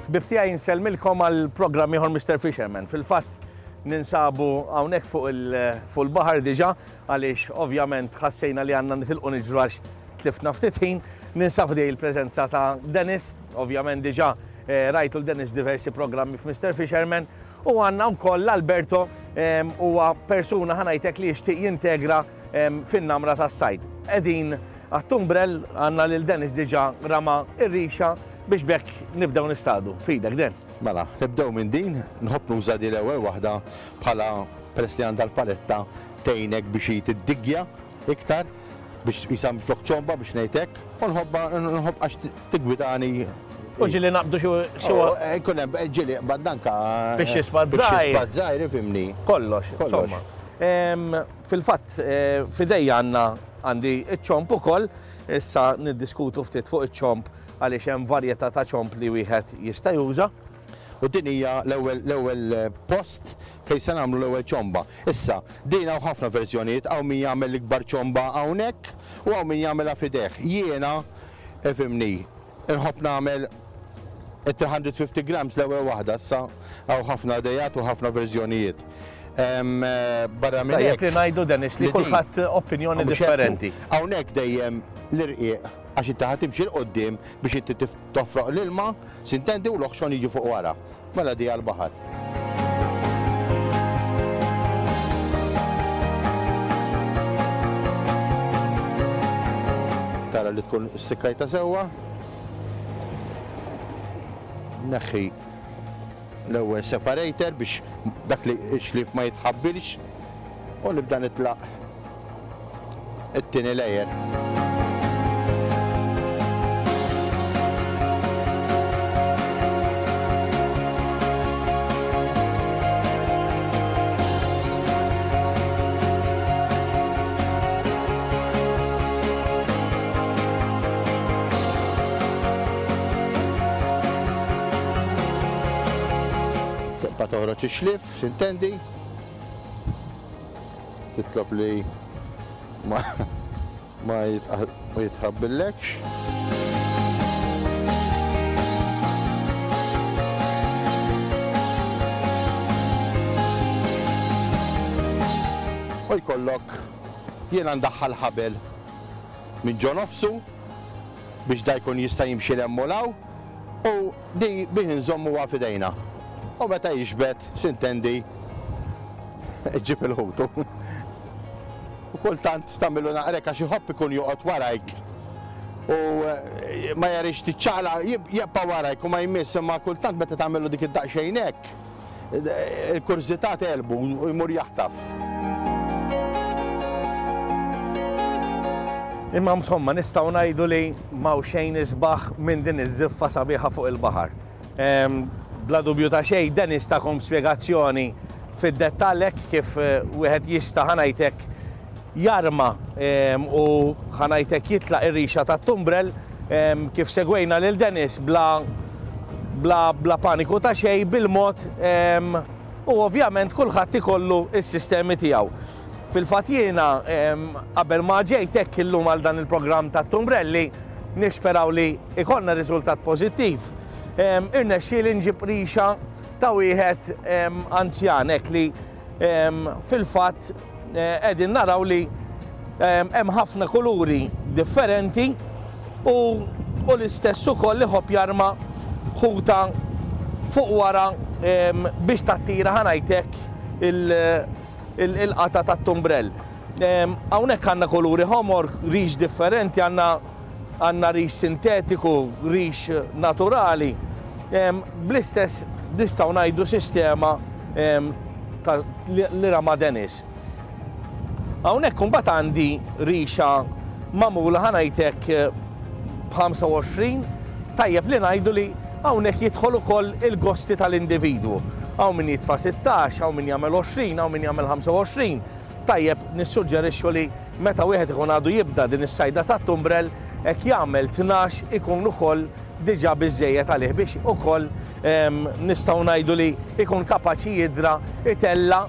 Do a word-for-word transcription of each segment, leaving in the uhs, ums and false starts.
Ħbieb tiegħi, insellmilkom għal programm ieħor Mister Fisherman. Fil-fatt ninsabu hawnhekk fuq il-baħar diġà, għaliex ovvjament ħassejna li għandna nitilqu niġru għax tlifna ftit ħin. Ninsab dej il-preżenza ta' Dennis, ovvjament diġà eh, rajtu l-Dennis diversi programmi f'Mister Fisherman, u għandna wkoll l-Alberto, huwa persuna, ħa ngħidlek, li jixtieq jintegra fin-namra tas-sajd. Qegħdin għat-tumbrel, għandna lil Dennis diġà rama ir-rixa biex bekk nibdew nistadu. Fidek, Den. Mela, nibdew minn din, nħobb nuża di l-ewwel waħda bħala, peress li għandha l-paletta, tgħinek biex tiddiggja iktar, biex jisam flok ċomba, biex ngħidlek, u nħobba, nħobb għax tigwidani. U ġieli naqbdu xi Ikun hemm ġieli bandanka. Biex xi spad żgħir. Biex żgħir, ifhimni. Kollox, insomma. Fil-fatt, eh, f'idejja għandna għandi iċ-ċomp ukoll, issa niddiskutu ftit fuq iċ-ċomp għaliex hemm varjetà ta' ċomp li wieħed jista' juża. U din hija l-ewwel l-ewwel post fejn se nagħmlu l-ewwel ċomba. Issa, din hawn ħafna verżjonijiet, hawn min jagħmel l-ikbar ċomba hawnhekk u hawn min jagħmilha f'idejh. Jiena, ifhimni, inħobb nagħmel tliet mija u ħamsin grams l-ewwel waħda, issa hawn ħafna idejat u ħafna verżjonijiet. Barra minn Tajjeb li ngħidu, Dennis, li kulħadd opinjoni differenti. Hawnhekk dejjem l-irqiq, għax inti ħa timxi 'l quddiem biex inti toffroq l-ilma, sintendi, u l-oħxon jiġi fuq wara. Mela di għal-baħar. Tara li tkun sikkajta sewwa. Neħħi l-ewwel separator biex dak li xlif ma jitħabbilx u nibda nitlaq it-tieni layer. Tibqa' toħroġ ix-xlif, sintendi? Titlob li ma ma jitħabbillekx. U jkollok, jiena ndaħħal ħabel minn ġo nofsu biex da jkun jista' jimxi 'l hemm u u di bih nżommu f'idejna. U meta jiġbed, sintendi, ġib il-ħutu. U kultant tagħmillu naqrek għax iħobb ikun joqgħod warajk. U eh, ma jarix tiċċaqla, jibqa' warajk u ma jmiss, imma kultant meta tagħmillu dik id-daqsxejn hekk, il-kurżità tegħlbu u jmur jaħtaf. Imma insomma nistgħu ngħidu li m'hawn xejn isbaħ minn din iż-żiffa sabiħa fuq il-baħar. Bla dubju ta' xejn, Dennis takom spjegazzjoni fid-dettall kif eh, wieħed jista', ħa ngħidlek, jarma u, ħa ngħidlek, jitlaq ir-rixa tat-tumbrel, kif segwejna lil Dennis bla bla bla paniku ta' xejn, bil-mod, u ovvjament kulħadd ikollu s-sistemi tiegħu. Fil-fatt jiena qabel ma ġejtek illum għal dan il-programm tat-tumbrelli, nisperaw li ikollna riżultat pożittiv. Irnexxieli nġib rixa ta' wieħed anzjan hekk li fil-fatt eh, qegħdin naraw li hemm ħafna kuluri differenti u u l-istess ukoll li ħobb jarma ħuta fuq wara biex tattira, ħa ngħidlek, il-qata tat-tumbrell. Hawnhekk għandna kuluri ħomor, rix differenti, għandna għandna rix sintetiku, rix naturali. Bl-istess, nistgħu ngħidu, sistema li rama Dennis. Hawnhekk imbagħad għandi rixa magħmula, ħa ngħidlek, b'ħamsa u għoxrin. Tajjeb li ngħidu li hawnhekk jidħol ukoll il-gosti tal-individwu. Hawn min jitfa' sittax, hawn min jagħmel għoxrin, hawn min jagħmel ħamsa u għoxrin. Tajjeb nissuġġerixxu li meta wieħed ikun għadu jibda din is-sajda tat-tumbrel, hekk jagħmel tnax ikun ukoll diġà biżejjed għalih biex ukoll nistgħu ngħidu li ikun kapaċi jidra itella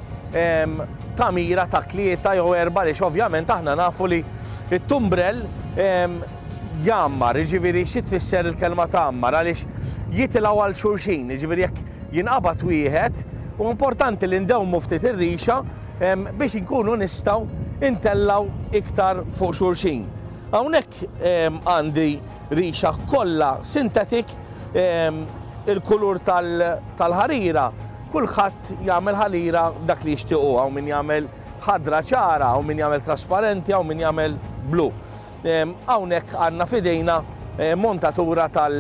ta' mira ta' tlieta jew erba', għaliex ovvjament aħna nafu li it-tumbrel Jgħammar, jiġifieri xi tfisser il-kelma tgħammar, għaliex jitilgħu għal xulxin, jiġifieri jekk jinqabad wieħed, u importanti li ndewmu ftit ir-rixa biex inkunu nistgħu intellgħu iktar fuq xulxin. Hawnhekk għandi rixa kollha sintetik, il-kulur tal-ħarira, kulħadd jagħmel ħarira dak li jixtiequ, hawn min jagħmel ħadra ċara, hawn min jagħmel trasparenti, hawn min jagħmel blu. Hawnhekk għandna f'idejna montatura tal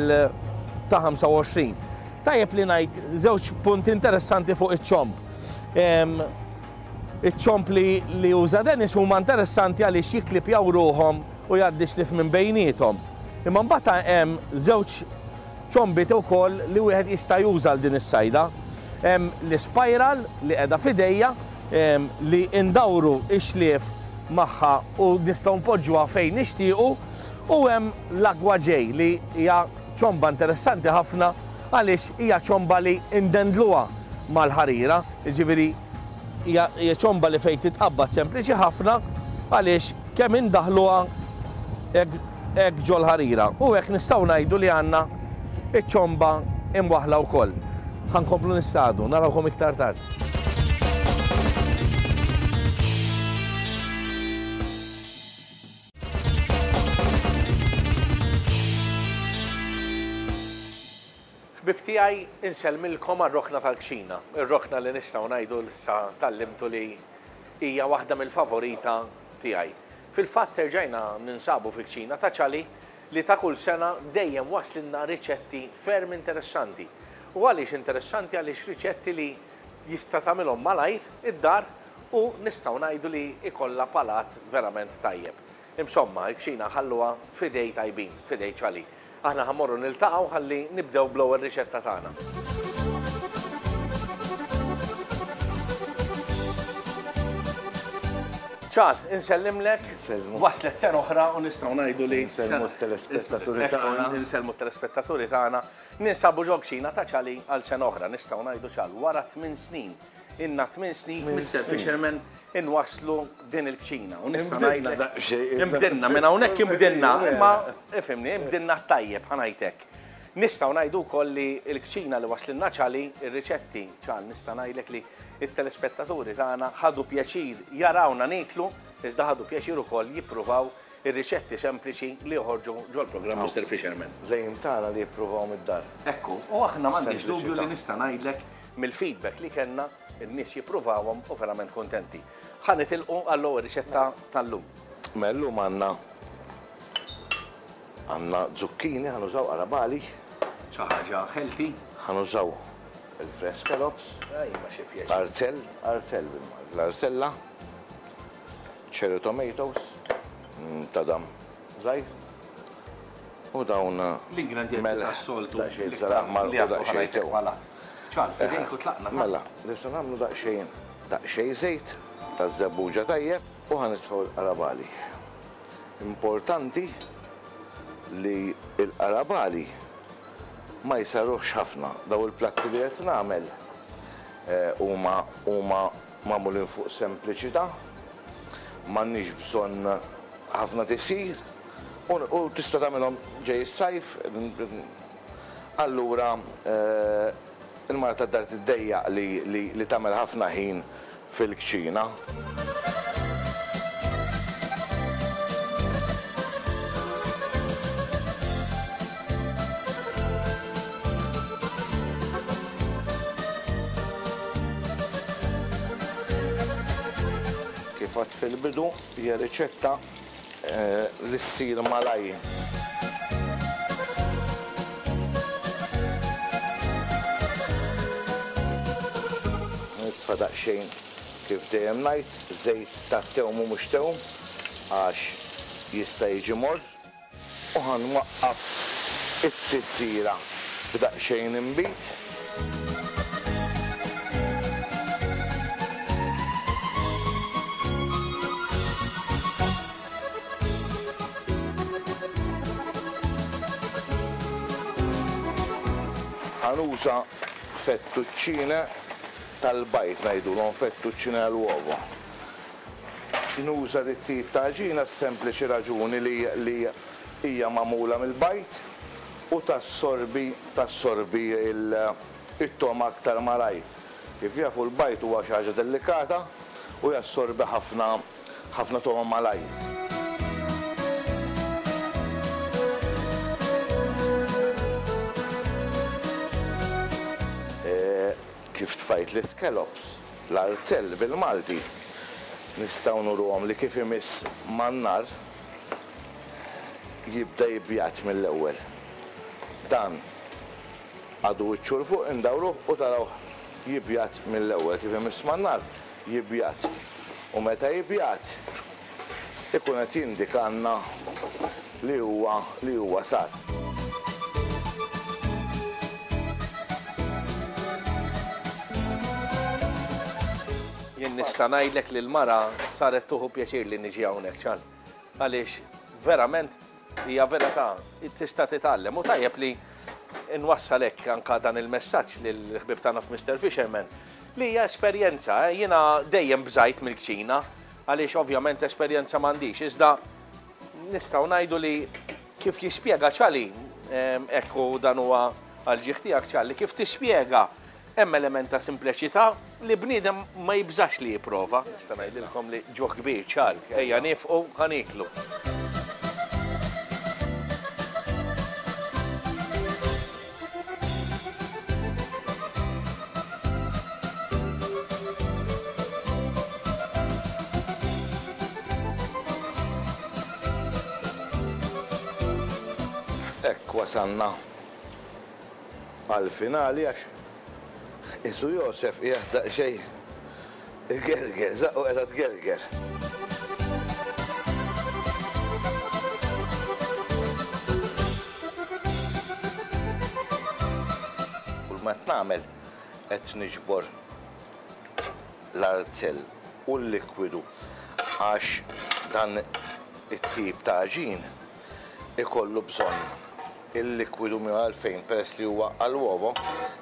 ta' ħamsa u għoxrin. Tajjeb li ngħid żewġ punti interessanti fuq iċ-ċomb. Iċ-ċomb li, li uża Dennis huma interessanti għaliex jiklipjaw ruħhom u jgħaddi xlif minn bejniethom. Imma mbagħad hemm żewġ ċombiet ukoll li wieħed jista' juża għal din is-sajda. Hemm l-spiral li qiegħda f'idejja li ndawru x-xlief magħha u nistgħu npoġġuha fejn nixtiequ, u hemm l-Agwa J li hija ċomba interessanti ħafna għaliex hija ċomba li ndendluha mal-ħarira, jiġifieri hija ċomba li fejn titqabbad sempliċi ħafna għaliex kemm indaħluha hekk ġol-ħarira. U hekk nistgħu ngħidu li għandna iċ-ċomba imwaħla wkoll. Ħa nkomplu nistadu, narawkom iktar tard. Ħbieb tiegħi, insellmilkom għar-rokna tal-kċina, ir-rokna li nistgħu ngħidu issa tallimtu li hija waħda mill-favorita tiegħi. Fil-fatt erġajna ninsabu fil-kċina ta' Ċali li ta' kull sena dejjem waslinna riċetti ferm interessanti. U għaliex interessanti? Għaliex riċetti li jista' tagħmilhom malajr id-dar u nistgħu ngħidu li ikollha palat verament tajjeb. Insomma, il-kċina ħalluha f'idej tajbin, f'idej Ċali. Aħna ħammorru niltaqgħu ħalli nibdew bl-ewwel riċetta tagħna. Ċal, insellimlek, waslet sena oħra u nistgħu ngħidu li Insellmu t-telespettaturi tagħna. Insellmu t-telespettaturi tagħna. Ninsabu ġo kċina ta' Ċali għal sena oħra, nistgħu ngħidu Ċal wara tmien snin. Inna tmien snin Mister Fisherman inwaslu din il-kċina. U nistgħu ngħidu imbdilna, minn hawnhekk imbdilna, imma ifhimni, imbdilna tajjeb ħa ngħidlek. Nistgħu ngħidu wkoll li l-kċina li waslinna Ċali, ir-riċetti Ċal, nista' ngħidlek li it-telespettaturi tagħna ħadu pjaċir jarawna niklu, iżda ħadu pjaċir ukoll jippruvaw ir-riċetti sempliċi li joħorġu ġol-programm Mister Fisherman. Lejn tagħna li jippruvaw mid-dar. Ekku, u aħna m'għandix dubju li nista' ngħidlek mill-feedback li kellna in-nies jippruvawhom u verament kontenti. Ħa nitilqu għall-ewwel riċetta tal-lum. Mela llum għandna għandna zucchini, ħa nużaw qarabali. Xi ħaġa healthy. Ħa nużaw il-fresh scallops, Ej, ma xi pjaċir. Arzell, arzell bil-Malti, l-arzella, cherry tomatoes, mm, tadam żgħir, u dawn l-ingredienti melħ, tas-soltu daqsxejn li bżar aħmar li u għandu daqsxejn ħanajtek tew. palat. Ċal, fidejk u tlaqna, ta' Mela, nistgħu nagħmlu daqsxejn, daqsxejn żejt taż-żebbuġa tajjeb u ħa nitfgħu l-qarabali. Importanti li l-qarabali ma jsaruħx ħafna. Daw il-platti li qed nagħmel, eh, huma, huma magħmulin fuq sempliċità, m'għandniex bżonn ħafna tisir u, u tista' tagħmilhom ġej is-sajf. Allura, eh, il-mara tad-dar tiddejjaq li, li, li tagħmel ħafna ħin fil-kċina. Kif għad fil-bidu hija riċetta, eh, li ssir malajr. Nitfa' daqsxejn kif dejjem ngħid, żejt tat-tewm u mhux tewm għax jista' jiġi morr. U ħanwaqqaf it-tisira b'daqsxejn inbid. Ħanuża fettuccine tal-bajt, ngħidulhom fettuccine għall-uovo. Nuża dit tip ta' għaġina sempliċi raġuni li, li hija magħmula mill-bajd u tassorbi tassorbi il-togħma aktar malajr. Kif jafu l-bajd huwa xi ħaġa delikata u jassorbi ħafna ħafna togħma malajr. Kif tfajt l-scallops, l-arzell bil-Malti, nistgħu nuruhom li kif imiss man-nar jibda jibjat mill-ewwel. Dan għadu wiċċu 'l fuq, indawruh u tarawh jibjat mill-ewwel. Kif imiss man-nar jibjat. U meta jibjat ikun qed jindikanna li huwa li huwa sar. Jien nista' ngħidlek li l-mara saret tuħu pjaċir li niġi hawnhekk ċan. Għaliex verament hija verità tista' titgħallem u tajjeb li nwassal hekk anke dan il-messaġġ lill-ħbieb tagħna f'Mister Fisherman li hija esperjenza. Jiena dejjem bżajt mill-kċina għaliex ovvjament esperjenza m'għandix, iżda nistgħu ngħidu li kif jispjega Ċali, ekku dan huwa għall-ġieħ tiegħek Ċali, kif tispjega hemm element ta' simpliċità li bniedem ma jibżax li jipprova. Nista' ngħidilkom li ġuħ kbir ċar, ejja nifqu ħa nieklu. Hekk wasalna għal-finali għax Isu Josef qiegħed daqsxejn igerger, żaqqu qiegħda tgerger. Kull ma qed nagħmel qed niġbor l-arzell u l-likwidu għax dan it-tip ta' għaġin ikollu bżonn il-likwidu minn għalfejn peress li huwa għal-uovo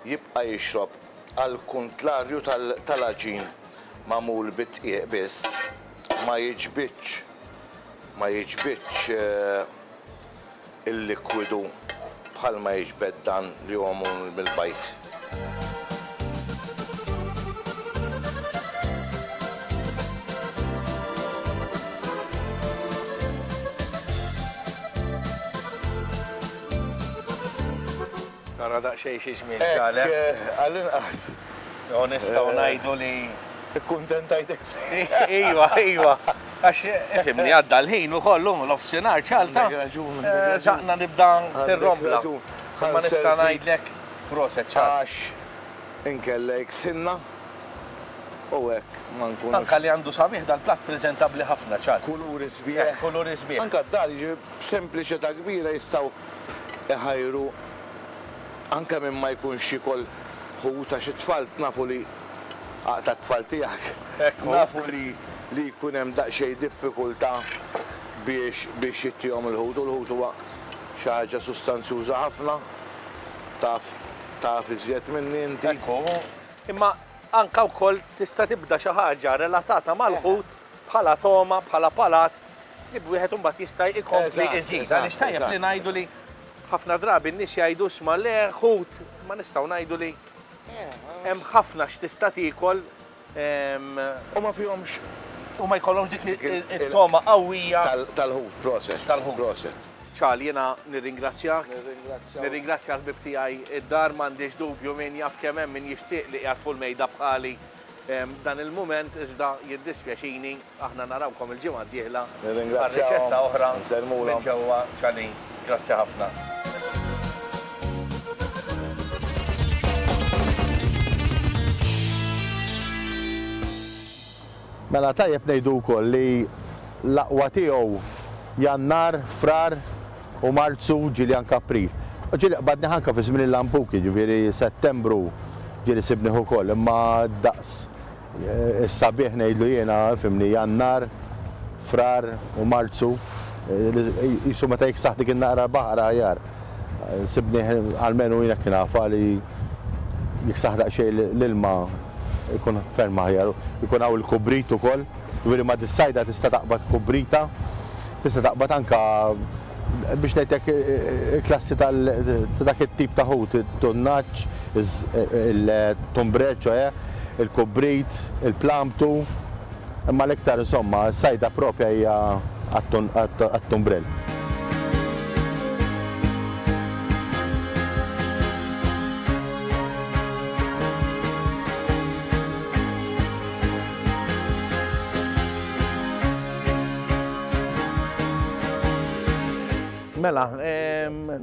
jibqa' jixrob għal kontlarju tal-għaġin magħmul bit-tqiegħ biss ma jiġbidx ma jiġbidx il-likwidu bħalma jiġbed dan li huwa magħmul mill-bajd. Nara daqsxejn xi ġmiel ċale. Għall-inqas. U nistgħu ngħidu li ikkuntentajtek. Iva, iva. Għax ifhimni għadda l-ħin ukoll l-offsinar ċalta. Saqna nibda tirrombla. Ma nista' ngħidlek proset ċal. Għax inkellek sinna u hekk ma nkunux. Anka li għandu sabiħ dal-platt preżentabbli ħafna ċal. Kuluri sbieħ. Kuluri sbieħ. Anka d-dar jiġi b'sempliċità kbira jistgħu iħajru anke minn ma jkunx jikol ħut għax it-tfal nafu li aqta' t-tfal tiegħek. Nafu li li jkun hemm daqsxejn diffikultà biex biex jittihom il-ħut u l-ħut huwa xi ħaġa sustanzjuża ħafna taf taf iżjed minni inti. Ekku, imma anka wkoll tista' tibda xi ħaġa relatata mal-ħut bħala togħma, bħala palat, li wieħed imbagħad jista' jkompli iżid. Għaliex tajjeb li ngħidu li ħafna drabi n-nies jgħidu sma le ħut, ma nistgħu ngħidu li hemm ħafna x'tista' tiekol. U ma fihomx u ma jkollhomx dik it-togħma qawwija tal-ħut, proset. Tal-ħut. Proset. Ċal, jiena nirringrazzjak. Nirringrazzja l-ħbieb tiegħi id-dar, m'għandix dubju min jaf kemm hemm min jixtieq li qiegħed fuq il-mejda bħali dan il-mument, iżda jiddispjaċini aħna narawkom il-ġimgħa d-dieħla. Nirringrazzjahom. Riċetta oħra Nsellmulhom. minn ġewwa Ċali. Grazzi ħafna. Mela tajjeb ngħidu wkoll li l-aqwa tiegħu Jannar, Frar u Marzu ġieli anke April. U ġieli qbadni anke fi żmien il-lampuki, ġifieri Settembru ġieli sibnih ukoll, imma daqs is-sabiħ ngħidlu jiena, fimni, Jannar, Frar u Marzu, jisu meta jiksaħ dik in-naqra baħar aħjar. Sibnih almenu jiena kien nafa li jiksaħ daqsxejn l-ilma ikun ferm aħjar, ikun hawn il-kubrit ukoll, ġifieri ma dis-sajda tista' taqbad kubrita, tista' taqbad anka Biex ngħidlek il-klassi ta' dak it-tip ta' ħut, it-tunnaġġ, il-tumbrel, ċoè, il-kubrit, il-plamtu, imma l-iktar insomma, s-sajda propja hija għat-tumbrel. Mela,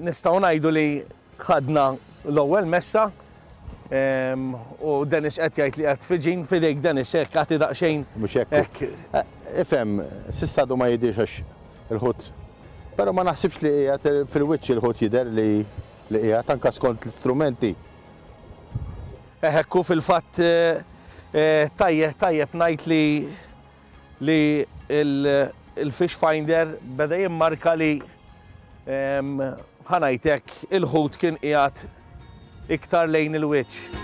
nistgħu ngħidu li ħadna l-ewwel messa u Dennis qed jgħid li qed fiġin f'idejk Dennis hekk għati daqsxejn. Mhux hekk. Ifhem, s'issa għadu ma jidhirx għax il-ħut. Però ma naħsibx li qiegħed fil-wiċċ il-ħut jidher li qiegħed anke skont l-istrumenti. Ekku fil-fatt tajjeb tajjeb ngħid li li il-fish finder beda jimmarka li ħa ngħidlek il-ħut kien qiegħed iktar lejn il-wiċċ.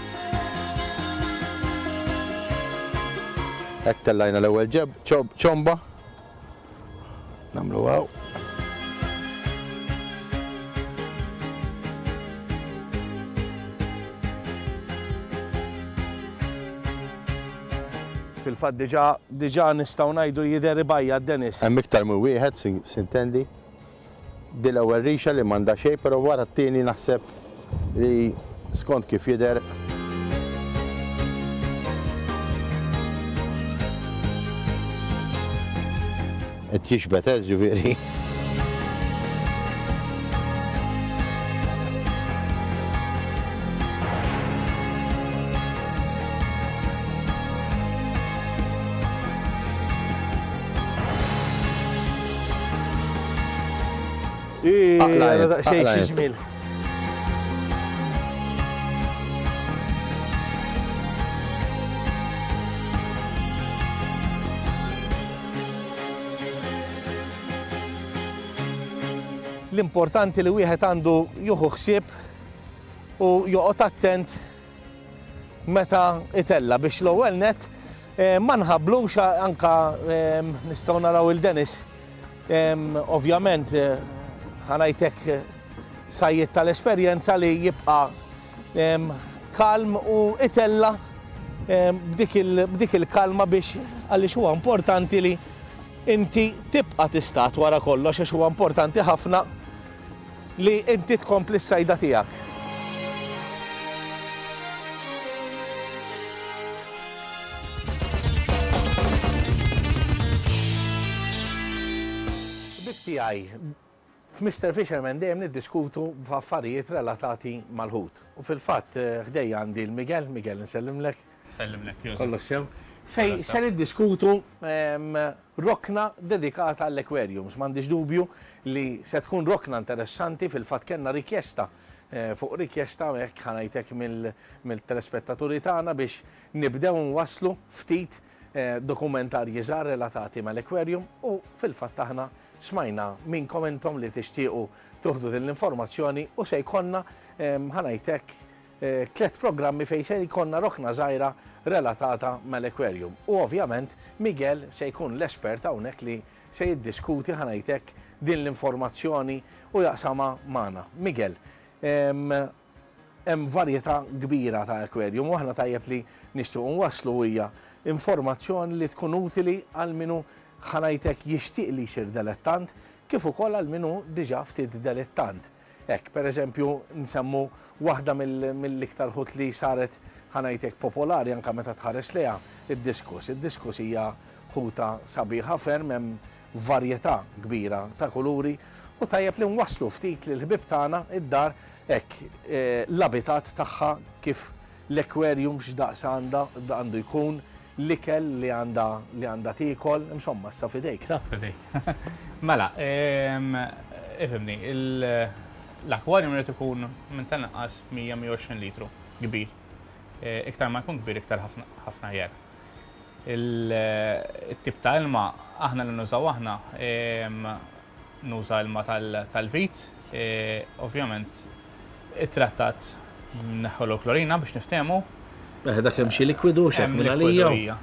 Hekk tellajna l-ewwel ġeb ċomba. Nagħmlu hawn. Fil-fatt diġà diġà nistgħu ngħidu jidher ibajja Dennis. Hemm iktar minn wieħed sintendi. Di l-ewwel rixa li m'għandha xejn, però wara t-tieni naħseb li skont kif jidher. Qed jixbet, eh, ġifieri. Xejn xi ġmiel. L-importanti li wieħed għandu jieħu ħsieb u joqgħod attent meta itella biex l-ewwel net ma nħabblux anka nistgħu naraw il-Dennis. Ovvjament ħa ngħidlek sajjied tal-esperjenza li jibqa' kalm u itella b'dik il-kalma biex għaliex huwa importanti li inti tibqa' tistat wara kollox għax huwa importanti ħafna li inti tkompli s-sajda tiegħek. Bib tiegħi f'Mister Fisherman dejjem niddiskutu b'affarijiet relatati mal-ħut. U fil-fatt ħdejja għandi l-Miguel, Miguel nsellimlek. Sellimlek, Josef. Kollox sew. Fej se niddiskutu rokna dedikata għall-aquariums. M'għandix dubju li se tkun rokna interessanti, fil-fatt kellna rikjesta fuq rikjesta hekk ħa ngħidlek mill-telespettaturi tagħna biex nibdew nwasslu ftit dokumentarji żgħar relatati mal-aquarium u fil-fatt aħna smajna minnkom intom li tixtiequ tuħdu din l-informazzjoni u se jkollna ħa ngħidlek tliet programmi fejn se jkollna rokna żgħira relatata mal-aquarium. U ovvjament Miguel se jkun l-espert hawnhekk li se jiddiskuti ħa ngħidlek din l-informazzjoni u jaqsama magħna. Miguel, hemm varjetà kbira ta' aquarium u aħna tajjeb li nixtiequ nwasslu hija informazzjoni li tkun utili għal minu ħa ngħidlek jixtieq li jsir dilettant kif ukoll għal minu diġà ftit dilettant. Hekk, pereżempju, nsemmu waħda mill-iktar ħut li saret ħa ngħidlek popolari anke meta tħares lejha, id-diskus. Id-diskus hija ħuta sabiħa ferm, hemm varjetà kbira ta' kuluri u tajjeb li nwasslu ftit lil ħbieb tagħna id-dar hekk l-abitat tagħha kif l-aquarium x'daqs għandha għandu jkun, l-ikel li għandha li għandha tiekol, insomma, issa f'idejk. Ta' f'idejk. Mela, ifhimni, l-aquarium irid ikun minn tal-inqas mija mija u għoxrin litru kbir. Iktar ma jkun kbir, iktar ħafna aħjar. Il-tip ta' ilma aħna li nużaw aħna nuża ilma tal-vit, ovvjament it-trattat neħħolu klorina biex niftehmu. Dak hemm xi likwidu x'hekk minn għalija.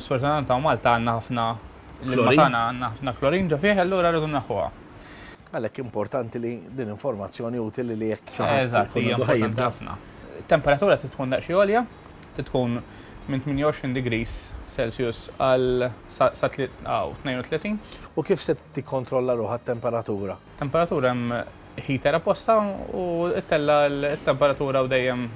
Sfortunatament hawn Malta għandna ħafna l-ilma tagħna għandna ħafna klorin ġo fih, allura rridu neħħuha. Għalhekk importanti li din informazzjoni utili li jekk xi ħadd Eżatt, ikun hija għandu importanti ħajjibda. ħafna. Temperatura trid tkun daqsxejn għolja, trid tkun minn tmienja u għoxrin degrees Celsius għal sa sa tli- aw, tnejn u tletin. U kif se tikkontrolla ruħha t-temperatura? Temperatura, hemm heater apposta u ttella' l-temperatura u dejjem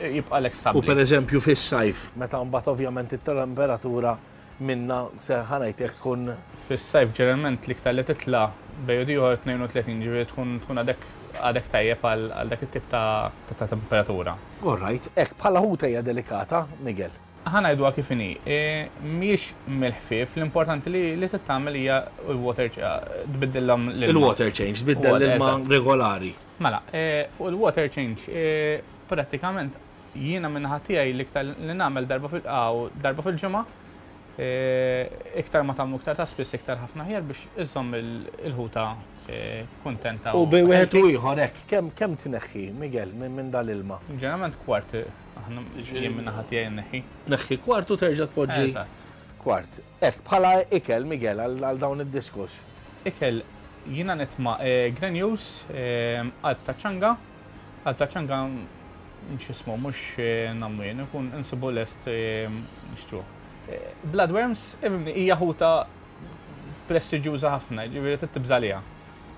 jibqa' U per stabbli. eżempju fis-sajf, meta mbagħad ovvjament it-temperatura minna se ħa ngħidlek tkun Fis-sajf ġeneralment l-iktar li titla' bejn ieħor tnejn u tletin, ġifieri tkun tkun għadek għadek tajjeb għal għal dak it-tip ta' ta' ta' temperatura. All right, hekk bħala ħuta hija delikata, Miguel? Ħa ngħidu kif inhi, e, mhijiex mill-ħfief, l-importanti li li tittamel hija il-water tbiddilhom l-ilma. Il-water change, tbiddel l-ilma Eżatt. regolari. Mela, e, fuq il-water change, e, prattikament jiena min-naħa tiegħi l-iktar li nagħmel darba fil aw, darba fil-ġimgħa, e, iktar ma tagħmlu iktar ta' spiss iktar ħafna ħjar biex iżomm il- il-ħuta e, kuntenta. U bejn wieħed u healthy. ieħor hekk, kemm kemm tneħħi, Miguel, minn minn dal-ilma? Ġeneralment kwart aħna jien min-naħa tiegħi nneħħi. Tneħħi kwart u terġa' tpoġġi Eżatt. kwart. Hekk bħala ikel, Miguel, għal għal dawn id-diskus? Ikel jiena nitma' eh, granules, eh, qalb ta' ċanga, qalb ta' ċanga x'ismu mhux eh, nagħmlu jien, ikun insibu lest eh, nixtruh. Eh, Bloodworms ifhimni, hija ħuta prestiġjuża ħafna, ġifieri trid tibża' għaliha.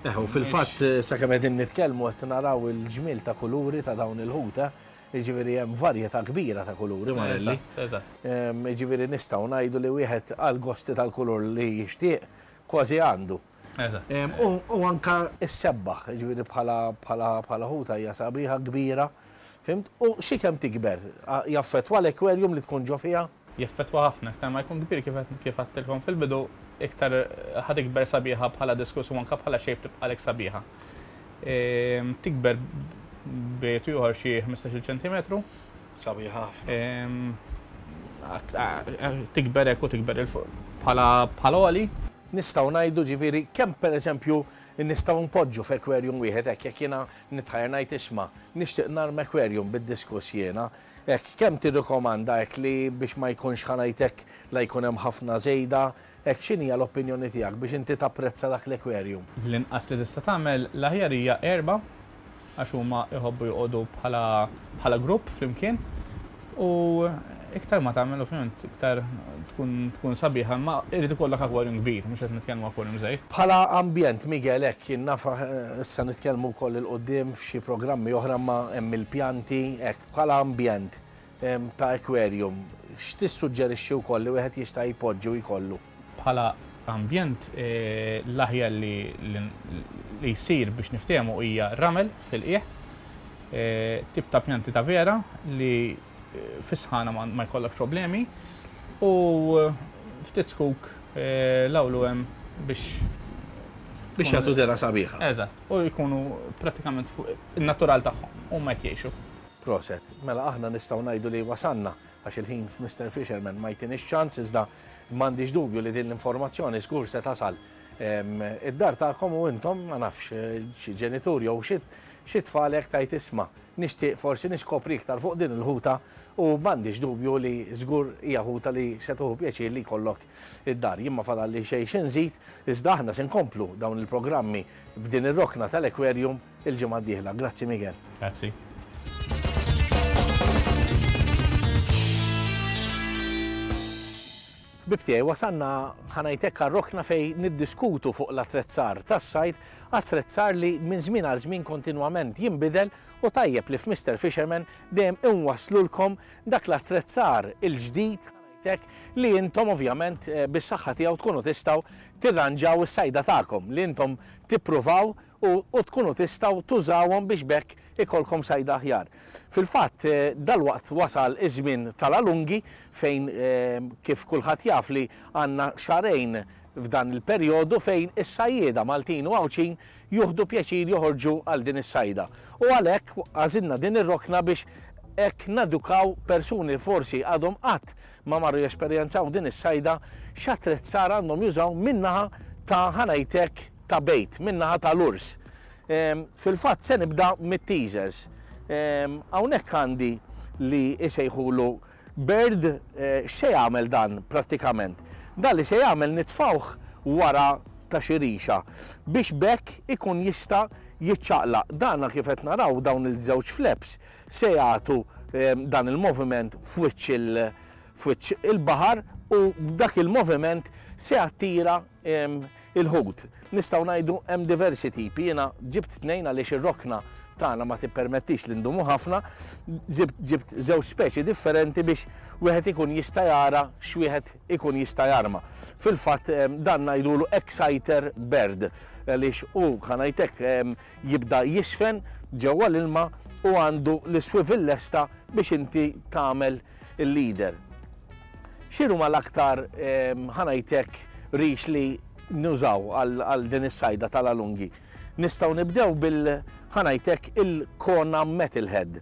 Eh, u fil-fatt eh, sakemm qegħdin nitkellmu qed naraw il-ġmiel ta' kuluri ta' dawn il-ħuta, jiġifieri hemm varjetà kbira ta' kuluri, Marelli. Eżatt, eżatt. Em, Jiġifieri nistgħu ngħidu li wieħed għal gosti tal-kulur li jixtieq kważi għandu. Eżatt. Em, U u anka s-sebbaħ, jiġifieri bħala bħala bħala ħuta hija sabiħa kbira. Fhimt? U xi kemm tikber, a- jaffettwa l-aquarium li tkun ġo fiha? Jaffettwa ħafna, iktar ma jkun kbir kif kif għedtilkom fil-bidu, iktar ħa tikber sabiħa bħala diskus u anka bħala shape tibqalek sabiħa. Ehm, Tikber bejn ieħor xi ħmistax-il ċentimetru. Sabiħa ħafna. Ehm, ak- a- a- Tikber hekk u tikber 'il fuq bħala bħala għoli. Nistgħu ngħidu ġifieri kemm pereżempju nistgħu npoġġu f'aquarium wieħed hekk jekk jiena nitħajjar ngħid, isma', nixtieq narm aquarium bid-diskus jiena. Hekk kemm tirrikomanda hekk li biex ma jkunx, ħa ngħidlek, la jkun hemm ħafna żejda, hekk x'inhi l-opinjoni tiegħek biex inti tapprezza dak l-aquarium? L-inqas li tista' tagħmel l-aħjar hija erba' għax huma jħobbu joqogħdu bħala bħala grupp flimkien u iktar ma tagħmel ovvjament iktar tkun tkun sabiħa, ma irid ikollok aquarium kbir, mhux qed nitkellmu aquarium żgħir. Bħala ambjent, Miguel, hekk jien naf eh, issa nitkellmu wkoll 'il quddiem f'xi programmi oħra ma hemm il-pjanti, hekk bħala ambjent em, ta' aquarium, x'tissuġġerixxi wkoll li wieħed jista' jpoġġi u jkollu? Bħala ambjent eh, l-aħjar li, li, li jsir biex niftehmu hija ramel fil-qiegħ, eh, tip ta' pjanti ta' vera li eh, fis-sħana ma, ma jkollok problemi u ftit zkuk eh, l-awlu hemm biex Biex jagħtu dehra sabiħa. Eżatt, u jkunu pratikament fuq il-natural tagħhom u ma jgħixu. Proset, mela aħna nistgħu ngħidu li wasanna għax il-ħin f'Mister Fisherman ma jtinix ċans, iżda m'għandix dubju li din l-informazzjoni żgur se tasal em, id-dar tagħkom u intom, ma nafx, eh, xi ġenitur jew xi xi tfal hekk tajt, isma', nixtieq forsi niskopri iktar fuq din il-ħuta, u m'għandix dubju li żgur hija ħuta li se tieħu pjaċir li jkollok id-dar. Jien ma fadalli xejn xi nżid, iżda aħna se nkomplu dawn il-programmi b'din ir-rokna tal-aquarium il-ġimgħa d-dieħla. Grazzi, Miguel. Grazzi. Ħbieb tiegħi, wasanna, ħa ngħidlek, rokna fejn niddiskutu fuq l-attrezzar tas-sajd, attrezzar li minn żmien għal żmien kontinwament jinbidel u tajjeb li f'Mister Fisherman dejjem inwaslulkom dak l-attrezzar il-ġdid, ħa ngħidlek, li intom ovvjament eh, bis-saħħa tiegħu tkunu tistgħu tirranġaw is-sajda tagħkom, li intom tippruvaw u, u tkunu tistgħu tużawhom biex bekk ikolkom sajda aħjar. Fil-fatt, eh, dalwaqt wasal iż-żmien tal-alungi fejn eh, kif kulħadd jaf li għandna xahrejn f'dan il-perjodu fejn is-sajjieda Maltin u Għawdxin juħdu pjaċir joħorġu għal din is-sajda. U għalhekk għażilna din ir-rokna biex hekk nadukaw persuni forsi għadhom qatt ma marru jesperjenzaw din is-sajda, x'attrezzar għandhom jużaw min-naħa ta', ħa ngħidlek, ta' bait, min-naħa ta' lures. Em, Fil-fatt se nibda mit-teasers. Em, Hawnhekk għandi li isejħulu bird, eh, x'se jagħmel dan prattikament? Dan li se jagħmel nitfawh wara ta' xi rixa biex bekk ikun jista' jiċċaqlaq. Dana kif qed naraw dawn il-żewġ flaps se jagħtu dan il-moviment f'wiċċ il-baħar u dak il-moviment se jattira il-ħut. Nistgħu ngħidu hemm diversi tipi, jiena ġibt tnejn għaliex ir-rokna tagħna ma tippermettix li ndumu ħafna, ġibt żewġ speċi differenti biex wieħed ikun jista' jara x'wieħed ikun jista' jarma. Fil-fatt dan ngħidulu exciter bird għaliex hu ħanajtek jibda jisfen ġewwa l-ilma u għandu l-swivel lesta biex inti tagħmel il-leader. X'inhuma l-aktar ħanajtek rix li nużaw għal din is-sajda tal-alungi? Nistgħu nibdew bil ħanajtek il-Kona Metalhead.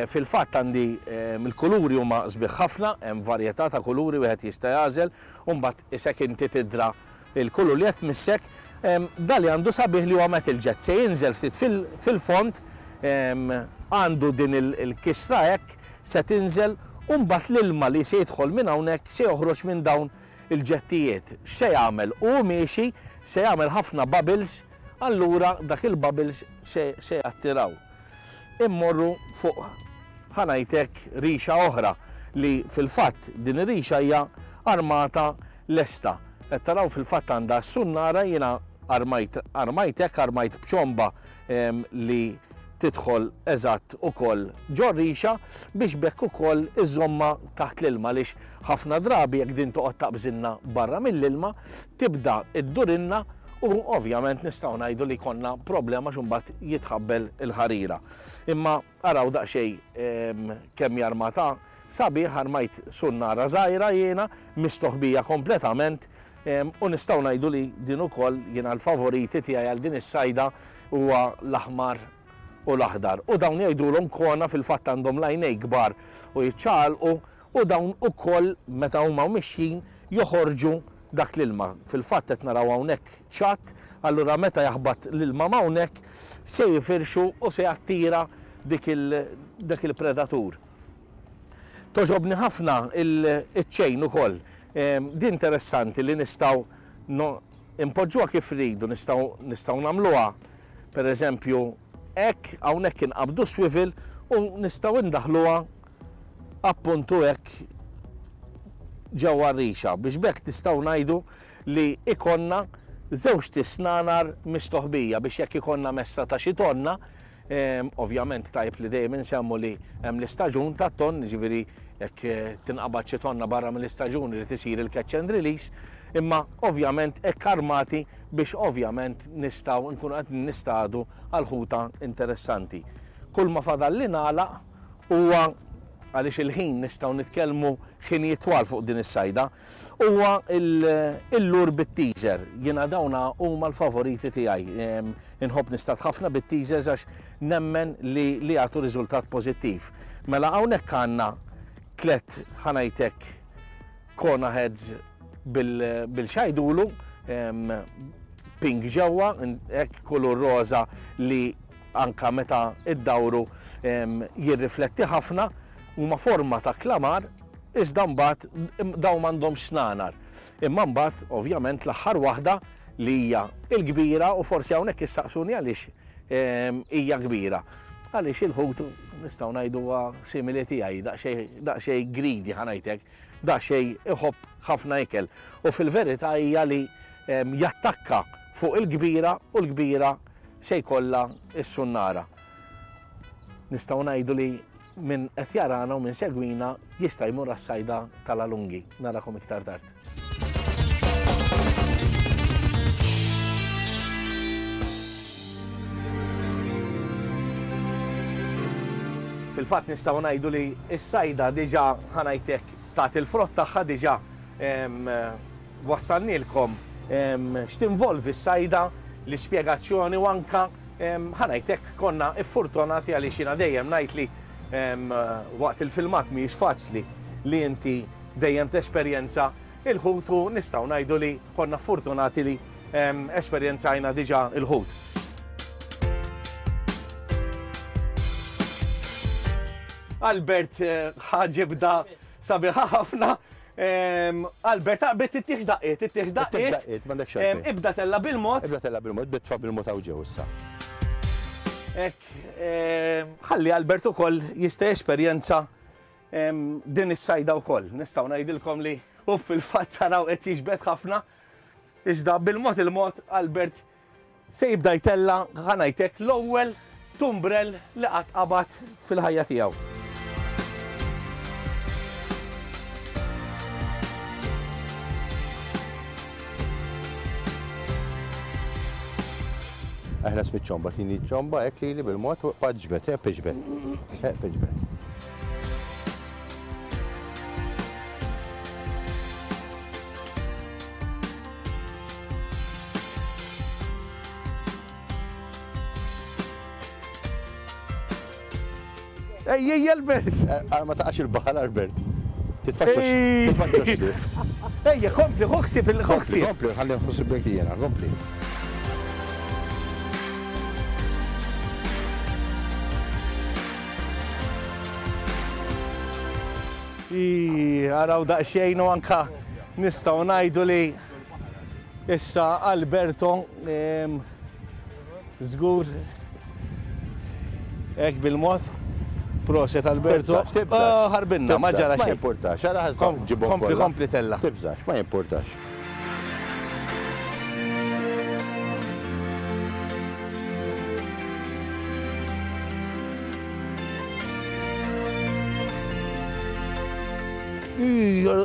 Fil-fatt għandi il-kuluri huma sbieħ ħafna, hemm varjetà ta' kuluri wieħed jista' jagħżel, u mbagħad isek inti tidra il-kulur li qed tmissek. Dali għandu sabiħ li huwa metal jet, se jinżel ftit fil-fond, għandu din il-kisra hekk se tinżel, u mbagħad l-ilma li se jidħol minn hawnhekk se joħroġ minn dawn il-ġettijiet. X'se jagħmel? Hu miexi se jagħmel ħafna bubbles, allura dak il-bubbles se jattiraw. Immorru fuq ħanajtek rixa oħra li fil-fatt din ir-rixa hija armata lesta. Qed taraw fil-fatt għandha s-sunnara, jiena armajt armajtek, armajt b'ċomba li tidħol eżatt ukoll ġor-rixa biex bekk ukoll iżomma taħt l-ilma, għaliex ħafna drabi jekk din toqgħod taqbżilna barra mill-ilma tibda iddurinna u ovvjament nistgħu ngħidu li konna problema x'imbagħad jitħabbel il-ħarira. Imma araw daqsxejn kemm jarmata sabiħ, armajt sunnara żgħira jiena mistoħbija kompletament, u nistgħu ngħidu li din ukoll jiena l-favoriti tiegħi għal din is-sajda huwa l-aħmar u l-aħdar. U dawn jgħidulhom kona, fil-fatt għandhom lajnej kbar u jiċċaqalqu, u dawn ukoll meta huma mixjin joħorġu dak l-ilma. Fil-fatt qed naraw hawnhekk ċatt, allura meta jaħbat l-ilma hawnhekk se jifirxu u se jattira dik il-predatur. Toġobni ħafna il-ċejn ukoll. Din interessanti li nistgħu impoġġuha kif rridu, nistgħu nagħmluha pereżempju hekk, hawnhekk inqabdu swivel u nistgħu ndaħluha appuntu hekk ġewwa r-rixa biex bekk nistgħu ngħidu li ikonna żewġ tisnanar mistoħbija biex jekk ikonna messa ta' xi tonna, ovvjament tajb li dejjem insemmu li hemm l-istaġun tat-ton, jiġifieri jekk tinqabad xi tonna barra mill-istaġun irid isir il-catch and release, imma ovvjament hekk armati biex ovvjament nistgħu nkunu qed nistadu għal ħuta interessanti. Kull ma fadal li nagħlaq huwa, għaliex il-ħin nistgħu nitkellmu ħinijiet twal fuq din is-sajda, huwa il-lur bit-teaser. Jiena dawna huma l-favoriti tiegħi. Inħobb nistad ħafna bit-teasers għax nemmen li li jagħtu riżultat pożittiv. Mela hawnhekk għandna tliet ħanajtek Kona heads bil-xajdulu, pink ġewwa, hekk kulur roża li anka meta iddawru jirrifletti ħafna, huma forma ta' klamar, iżda mbagħad dawn m'għandhomx snanar. Imma mbagħad ovvjament l-aħħar waħda li hija l-kbira, u forsi hawnhekk issaqsuni għaliex hija kbira. Għaliex il-ħut nistgħu ngħidu simili tiegħi, daqsxejn greedy ħanajtek, daqsxejn iħobb ħafna ikel. U fil-verità hija li jattakka fuq il-kbira u l-kbira se jkollha s-sunnara. Nistgħu ngħidu li min qed jarana u min segwina jista' jmur għas-sajda tal-alungi. Narakom iktar tard. Fil-fatt nistgħu ngħidu li s-sajda diġà ħanajtek tagħti l-frott tagħha, diġà wassalnilkom x'tinvolvi s-sajda, l-ispjegazzjoni, u anka ħanajtek konna iffurtunati għaliex jiena dejjem ngħid li waqt il-filmat mhijiex faċli li inti dejjem tesperjenza il-ħut, u nistgħu ngħidu li konna fortunati li esperjenzajna diġà il-ħut. Albert ħaġibda sabiħa ħafna, Albert, taqbit tittieħx daqqiet, tittieħx daqqiet. M'għandekx għalfejn. Ibda tella bil-mod. Ibda tella bil-mod, bitfa bil-mod hawn ġew issa. Hekk, ħalli Albert ukoll jista' jesperjenza din is-sajda wkoll. Nistgħu ngħidilkom li u fil-fatt taraw qed jiġbed ħafna. Iżda bil-mod il-mod Albert se jibda jtella ħa ngħidlek l-ewwel tumbrel li qatt qabad fil-ħajja tiegħu. Eħles miċ-ċomba, tini ċomba, hekk lili bil-mod u ġbed, hekk iġbed, hekk iġbed. Ej, ej, Albert! Għal ma taqax il-baħal, Albert. Titfaċċax, titfaċċax xlif. Ejja, kompli, ħoxsib il-ħoxsib. Kompli, ħalli nħossib bek jiena, kompli. Araw daqsxejn u anka nistgħu ngħidu li issa Alberto żgur hekk bil-mod. Proset Alberto. Ħarbinna, ma ġara xejn. Ma jimpurtax, ara ħażna ġibhom. Kompli, kompli tella. Tibżax, ma jimpurtax.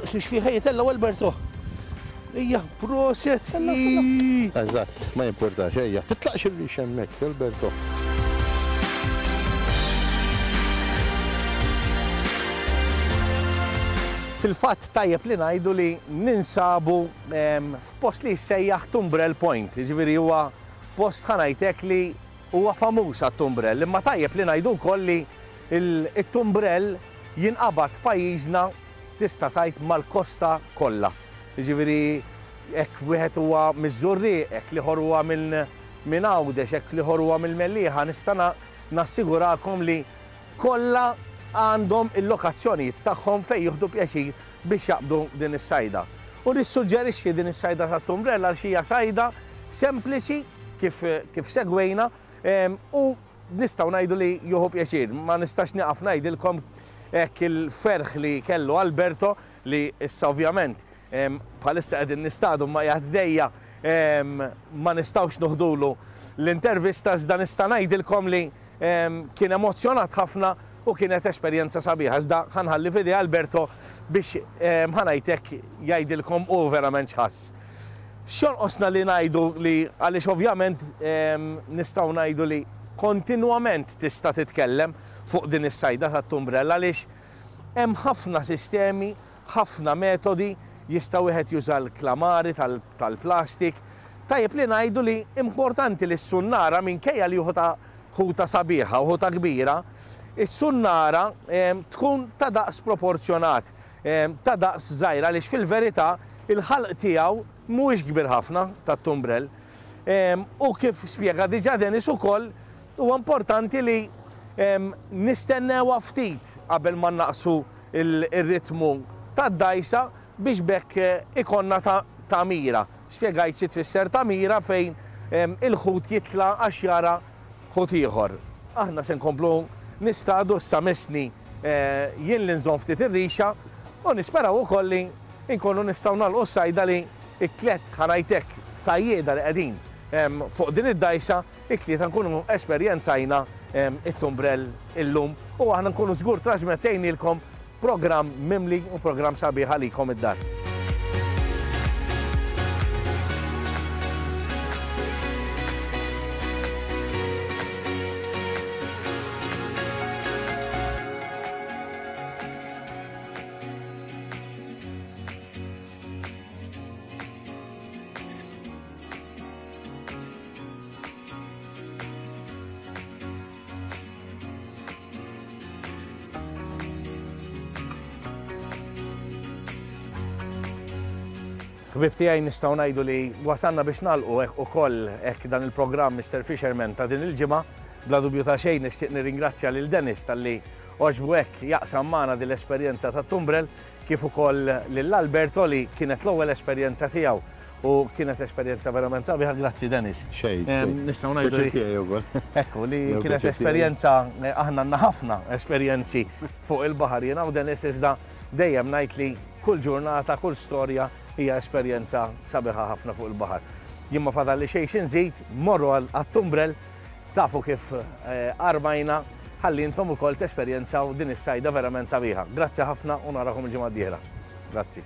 X'fiha jitella Alberto. Ejja, proset. Eżatt, ma jimpurtax, ejja. Titlaqx ir-rix hemmhekk, Alberto. Fil-fatt tajjeb li ngħidu li ninsabu f'post li jissejjaħ Tumbrel Point, jiġifieri huwa post ħa ngħidlek li huwa famuż għat-tumbrel, imma tajjeb li ngħidu wkoll li it-tumbrel jinqabad f'pajjiżna tista' tgħid mal-kosta kollha. Jiġifieri hekk wieħed huwa miż-Żurrieq, hekk l-ieħor huwa minn Għawdex, hekk l-ieħor huwa mill-Mellieħa, nista' nassigurakom li kollha għandhom il-lokazzjonijiet tagħhom fejn jieħdu pjaċir biex jaqbdu din is-sajda. U nissuġġerixxi din is-sajda tat-tumbrella għal xi hija sajda sempliċi kif, kif segwejna u nistgħu ngħidu li jieħu pjaċir. Ma nistax nieqaf ngħidilkom hekk il-ferħ li kellu Alberto li issa ovvjament bħalissa qegħdin nistadu ma jgħaddejja ma nistgħux noħdulu l-intervista iżda nista' ngħidilkom li kien emozzjonat ħafna u kienet esperjenza sabiħa. Iżda ħa nħalli f'idej Alberto biex ħa ngħidlek jgħidilkom u verament x'ħass. X'jonqosna li ngħidu li għaliex ovvjament nistgħu ngħidu li kontinwament tista' titkellem fuq din is-sajda tat-tumbrella għaliex hemm ħafna sistemi, ħafna metodi, jista' wieħed juża l-klamari tal-plastik. Tajjeb li ngħidu li importanti li s-sunnara minkejja li ħuta ħuta sabiħa u ħuta kbira, is-sunnara tkun ta' daqs proporzjonat, ta' daqs żgħira għaliex fil-verità il-ħalq tiegħu mhuwiex kbir ħafna tat-tumbrel. U kif spjega diġà Dennis ukoll huwa importanti li nistennewha ftit qabel ma naqsu il-ritmu tad-dajsa biex bekk ikonna ta' mira. Spjegajt xi tfisser ta' mira fejn il-ħut jitla' għax jara ħut ieħor. Aħna se nkomplu nistadu issa missni jien li nżomm ftit ir-rixa u nisperaw ukoll li nkunu nistgħu nagħlqu s-sajda li t-tliet ħa ngħidlek sajjieda li qegħdin fuq din id-dajsa it-tlieta nkunu esperjenzajna it-tumbrel illum u aħna nkunu żgur trasmettejnilkom programm mimli u programm sabiħ għalikom id-dar. Ħbieb tiegħi nistgħu ngħidu li wasalna biex nagħlqu ukoll hekk dan il-programm Mister Fisherman ta' din il-ġimgħa. Bla dubju ta' xejn nixtieq nirringrazzja lil Dennis talli għoġbu hekk jaqsam magħna din l-esperjenza tat-tumbrel, Kif ukoll lil Alberto li kienet l-ewwel esperjenza tiegħu u kienet esperjenza verament sabiħa. Grazzi, Dennis. Xejn. Nistgħu ngħidu li Ekku li kienet esperjenza, eh, aħna għandna ħafna esperjenzi fuq il-baħar jiena u Dennis, iżda dejjem ngħid li kull ġurnata, kull storja hija esperjenza sabiħa ħafna fuq il-baħar. Jien ma fadalli xejn x'inżid, morru għat-Tumbrell, tafu kif eh, armajna, ħalli intom ukoll tesperjenzaw din is-sajda verament sabiħa. Grazzi ħafna u narakom il-ġimgħa d-dieħla. Grazzi.